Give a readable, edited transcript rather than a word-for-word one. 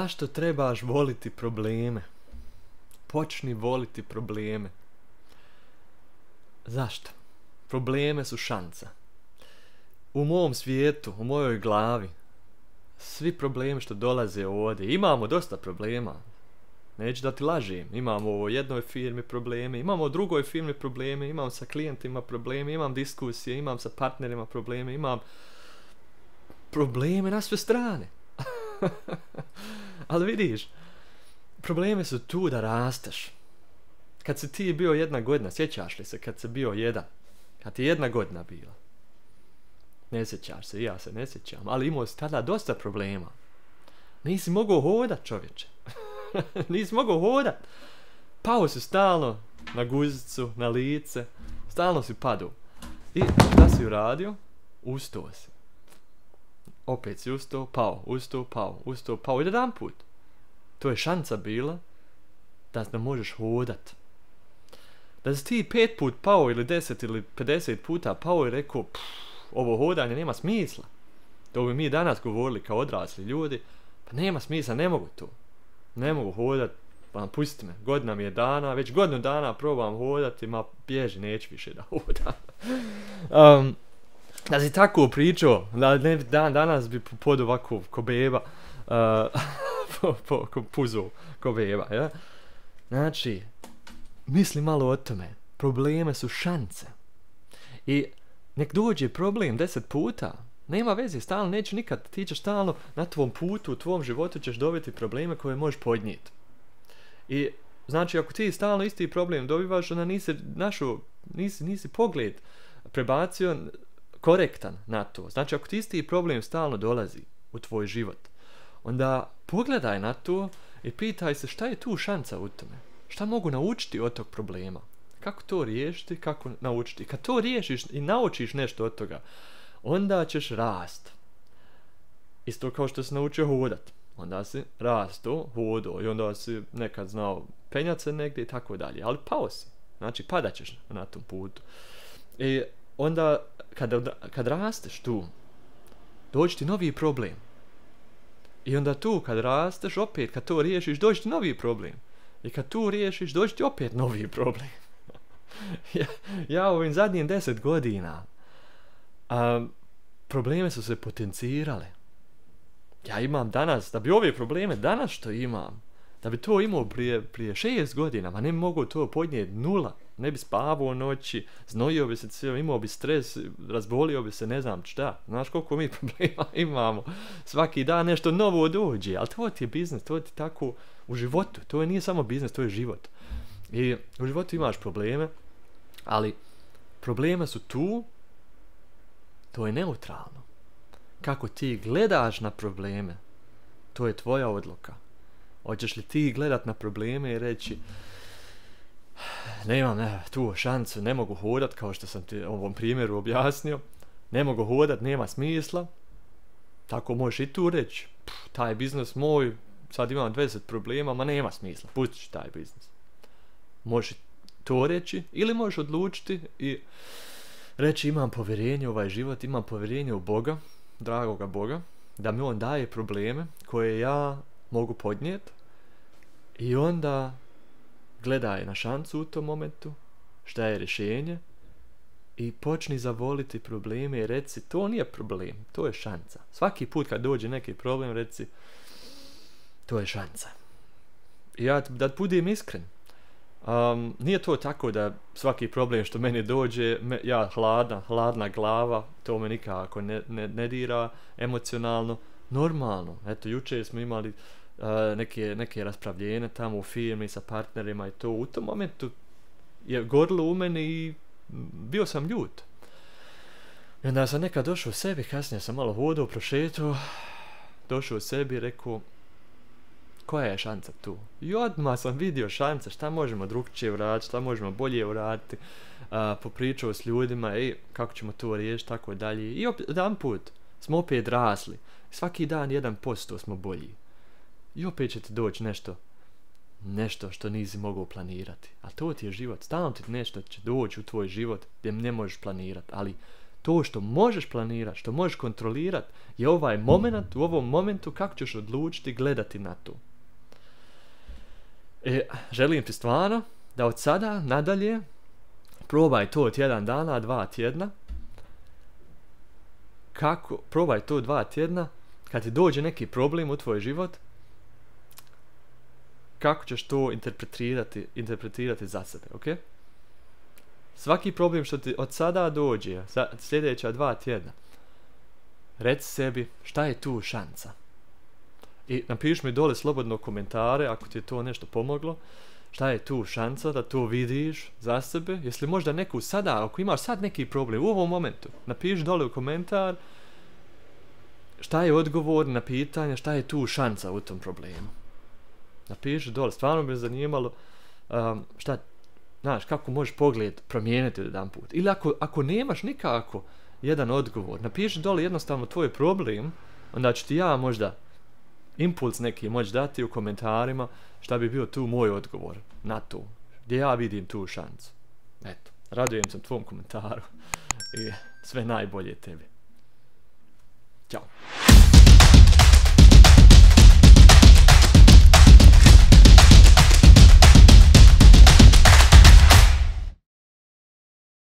Zašto trebaš voliti probleme? Počni voliti probleme. Zašto? Probleme su šansa. U mom svijetu, u mojoj glavi, svi problemi što dolaze ovdje, imamo dosta problema. Neću da ti lažem, imamo u jednoj firmi probleme, imamo u drugoj firmi probleme, imam sa klijentima probleme, imam diskusije, imam sa partnerima probleme, imam probleme na sve strane. Ali vidiš, problemi su tu da rasteš. Kad si ti bio 1 godina, sjećaš li se kad si bio 1? Kad ti 1 godina bila? Ne sjećaš se, ja se ne sjećam, ali imao si tada dosta problema. Nisi mogao hodat, čovječe. Nisi mogao hodat. Pao si stalno na guzicu, na lice, stalno si padao. I šta si uradio? Ustao si. Opet si ustao, pao, ustao, pao, ustao, pao. I jedan put. To je šansa bila da možeš hodat. Da si ti 5 put pao ili 10 ili 50 puta pao i rekao, ovo hodanje nema smisla. To bi mi danas govorili kao odrasli ljudi. Pa nema smisla, ne mogu to. Ne mogu hodat, pa pusti me. Godina mi je dana, već godinu dana probam hodati, ma bježi, neću više da hodam. Da si tako pričao, danas bi pod ovako ko beba, ko puzo, ko beba, ja? Znači, misli malo o tome. Probleme su šanse. I nek dođe problem 10 puta, nema veze, stalno neću nikad, ti ćeš stalno na tvom putu, u tvom životu ćeš dobiti probleme koje možeš podnijeti. I znači ako ti stalno isti problem dobivaš, onda nisi pogled prebacio korektan na to. Znači ako ti isti problem stalno dolazi u tvoj život, onda pogledaj na to i pitaj se šta je tu šansa u tome. Šta mogu naučiti od tog problema? Kako to riješiti, kako naučiti? Kad to riješiš i naučiš nešto od toga, onda ćeš rast. Isto kao što si naučio hodat. Onda si rasto, hodo i onda si nekad znao penjat se negdje i tako dalje. Ali pao si. Znači padat ćeš na tom putu. I onda kad rasteš tu, dođe ti novi problem. I onda tu kad rasteš, opet kad to riješiš, dođe ti novi problem. I kad tu riješiš, dođe ti opet novi problem. Ja ovim zadnjim 10 godina probleme su se potencirale. Ja imam danas, da bi ove probleme danas što imam, da bi to imao prije 6 godina, ma ne mogu to podnijeti 0. Ne bi spavao noći, znojio bi se, imao bi stres, razbolio bi se, ne znam šta. Znaš koliko mi problema imamo. Svaki dan nešto novo dođe, ali to ti je biznis, to ti tako u životu. To nije samo biznis, to je život. I u životu imaš probleme, ali probleme su tu, to je neutralno. Kako ti gledaš na probleme, to je tvoja odluka. Hoćeš li ti gledat na probleme i reći nemam tu šansu, ne mogu hodat, kao što sam ti u ovom primjeru objasnio, ne mogu hodat, nema smisla. Tako možeš i tu reći, taj biznis moj, sad imam 20 problema, ma nema smisla, pustit ću taj biznis. Možeš to reći ili možeš odlučiti i reći imam povjerenje u ovaj život, imam povjerenje u Boga, dragoga Boga, da mi on daje probleme koje ja mogu podnijeti i onda gledaj na šansu u tom momentu, šta je rješenje i počni zavoliti probleme i reci to nije problem, to je šansa. Svaki put kad dođe neki problem reci to je šansa. I ja da budem iskren, nije to tako da svaki problem što meni dođe, ja hladna glava, to me nikako ne dira emocionalno, normalno. Eto, jučer smo imali neke raspravljene tamo u firmi sa partnerima i to u tom momentu je gorilo u meni i bio sam ljut. I onda sam nekad došao u sebi, kasnije sam malo hodao, prošetao, došao u sebi i rekao koja je šansa tu? I odmah sam vidio šanse, šta možemo drugčije uraditi, šta možemo bolje uraditi, popričao s ljudima, kako ćemo to riješiti, tako dalje. I jedan put smo opet rasli, svaki dan 1% smo bolji. I opet će ti doći nešto što nisi mogao planirati. A to ti je život. Stalno ti nešto će doći u tvoj život gdje ne možeš planirati. Ali To što možeš planirati, što možeš kontrolirati, je ovaj moment, u ovom momentu kako ćeš odlučiti gledati na to. Želim ti stvarno da od sada nadalje probaj to tjedan dana, 2 tjedna. Probaj to 2 tjedna, kad ti dođe neki problem u tvoj život, kako ćeš to interpretirati za sebe, ok? Svaki problem što ti od sada dođe, sljedeća 2 tjedna, reci sebi šta je tu šansa. I napiši mi dole slobodno komentare ako ti je to nešto pomoglo. Šta je tu šansa da to vidiš za sebe? Jesi možda neku sada, ako imaš sad neki problem u ovom momentu, napiši dole u komentar šta je odgovor na pitanje, šta je tu šansa u tom problemu. Napiši dole, stvarno bi me zanimalo kako možeš pogled promijeniti jedan put. Ili ako nemaš nikako jedan odgovor, napiši dole jednostavno tvoj problem, onda ću ti ja možda impuls neki moći dati u komentarima šta bi bio tu moj odgovor na to, gdje ja vidim tu šansu. Eto, radujem se tvom komentaru i sve najbolje tebi. Ćao.